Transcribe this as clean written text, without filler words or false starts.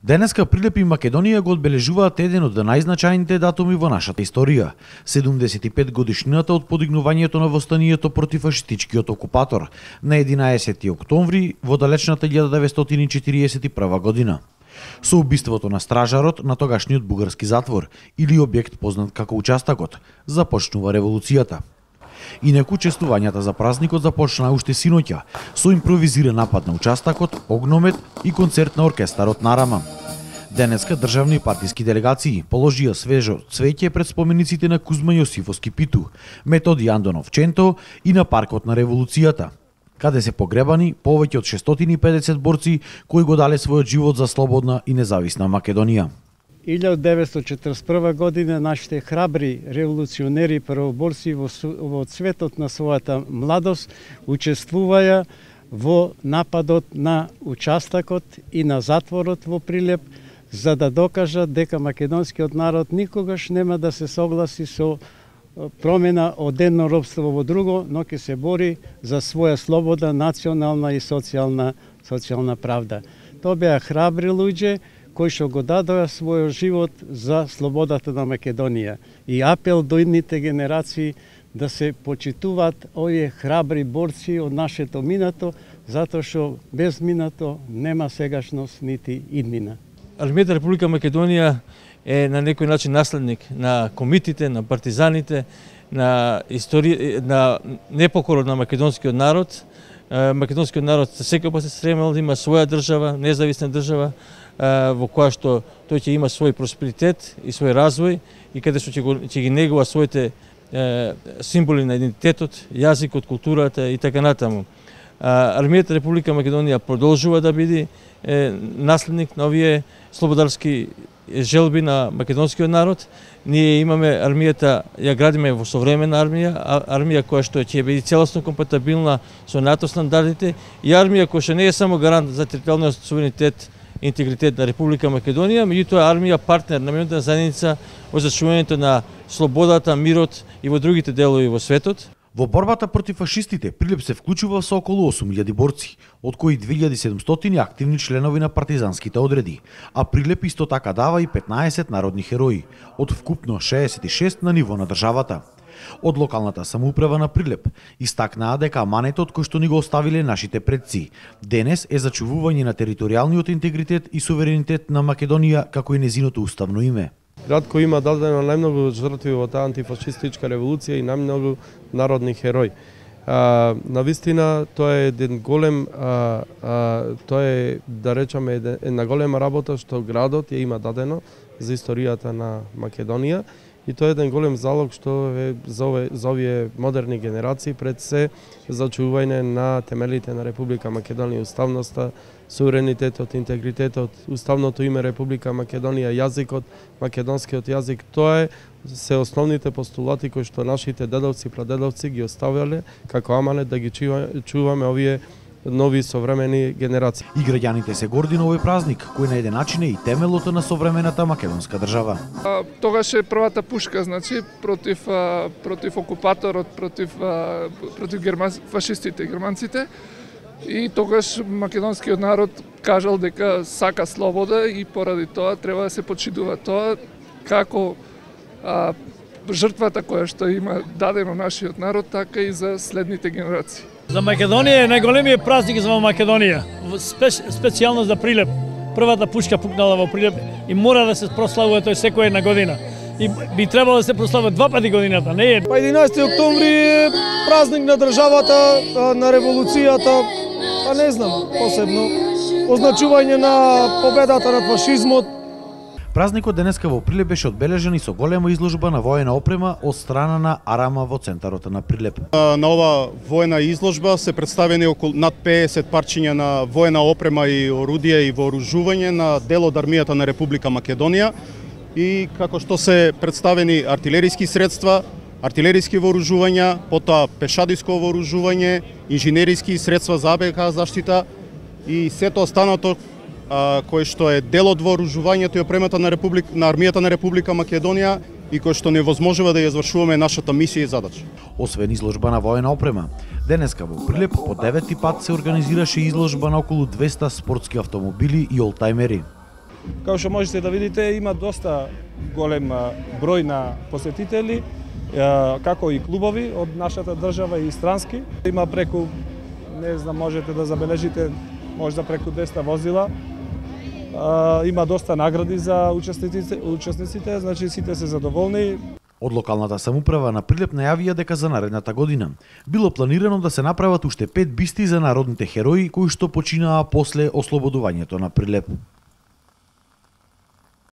Денеска Прилеп и Македонија го одбележуваат еден од најзначајните датуми во нашата историја. 75 годишнината од подигнувањето на востанието против фашистичкиот окупатор на 11 октомври во далечната 1941 година. Со убиството на стражарот на тогашниот бугарски затвор или објект познат како Участакот, започнува револуцијата. Инаку честувањата за празникот започнаа уште синоќа со импровизиран напад на Участакот, огномет и концерт на оркестарот на Арама. Денеска државни и партиски делегации положија свежо цвеќе пред спомениците на Кузма Јосифовски Питу, Методи Андонов Ченто и на паркот на револуцијата, каде се погребани повеќе од 650 борци кои го дале својот живот за слободна и независна Македонија. 1941 година нашите храбри револуционери и првоборци во цветот на својата младост учествуваја во нападот на Участакот и на затворот во Прилеп, за да докажат дека македонскиот народ никогаш нема да се согласи со промена од едно робство во друго, но ќе се бори за своја слобода, национална и социјална правда. Тоа беа храбри луѓе кои што го дадоа својот живот за слободата на Македонија. И апел до идните генерации да се почитуваат овие храбри борци од нашето минато, затоа што без минато нема сегашност нити иднина. Армијата Република Македонија е на некој начин наследник на комитите, на партизаните, на непокорот на македонскиот народ. Македонскиот народ секогаш се стремел да има своја држава, независна држава, во која што тој ќе има свој просперитет и свој развој и каде што ќе ги негува своите символи на идентитетот, јазикот, културата и така натаму. Армијата Република Македонија продолжува да биде наследник на овие слободарски желби на македонскиот народ. Ние имаме армијата, ја градиме во современа армија која што ќе биде целосно компатибилна со НАТО стандардите и армија која што не е само гарант за територијалниот суверенитет и интегритет на Република Македонија, меѓутоа армија партнер на меѓународната заедница во зачуването на слободата, мирот и во другите делови во светот. Во борбата против фашистите Прилеп се вклучува со околу 8000 борци, од кои 2700 активни членови на партизанските одреди, а Прилеп исто така дава и 15 народни херои, од вкупно 66 на ниво на државата. Од локалната самоуправа на Прилеп истакнаа дека аманетот кој што ни го оставиле нашите предци денес е зачувување на територијалниот интегритет и суверенитет на Македонија како и незиното уставно име. Град кој има дадено најмногу жртви во таа антифашистичка револуција и најмногу народни херои. Навистина тоа е еден голем, тоа е да речеме една голема работа што градот ја има дадено за историјата на Македонија и тоа е еден голем залог што е за овие модерни генерации пред се зачување на темелите на Република Македонија, уставноста, суверенитетот, интегритетот, уставното име Република Македонија, јазикот, македонскиот јазик, тоа се основните постулати кои што нашите дедовци и прадедовци ги оставиле како аманет да ги чуваме овие нови современи генерации. И граѓаните се горди на овој празник, кој на еден начин е и темелот на современата македонска држава. Тогаш е првата пушка, значи, против окупаторот, против фашистите, германците. И тогаш македонскиот народ кажал дека сака слобода и поради тоа треба да се почитува тоа како жртвата која што има дадено нашиот народ, така и за следните генерации. За Македонија е најголемиот празник за Македонија, специјално за Прилеп. Првата пушка пукнала во Прилеп и мора да се прославува тој секоја една година. И би требало да се прославува два пати годината, не е. 11 октомври е празник на државата, на револуцијата, па не знам, посебно означување на победата над фашизмот. Празникот денеска во Прилеп беше одбележен и со голема изложба на воена опрема од страна на Арама во центарот на Прилеп. На ова воена изложба се представени околу над 50 парчиња на воена опрема и орудија и вооружување на дел од армијата на Република Македонија и како што се представени артилериски средства, артилериски вооружувања, потоа пешадиско вооружување, инженериски средства за АБК заштита и сето останато кој што е дел од вооружувањето и опремата на армијата на Република Македонија и кој што невозможува да ја извршуваме нашата мисија и задача. Освен изложба на воена опрема, денеска во Прилеп по 9-ти пат се организираше изложба на околу 200 спортски автомобили и олтајмери. Како што можете да видите, има доста голем број на посетители, како и клубови од нашата држава и странски. Има преку, не знам, можете да забележите, можда преку 200 возила. Има доста награди за учесниците, значи сите се задоволни. Од локалната самоуправа на Прилеп најавија дека за наредната година било планирано да се направат уште 5 бисти за народните херои кои што починаа после ослободувањето на Прилеп.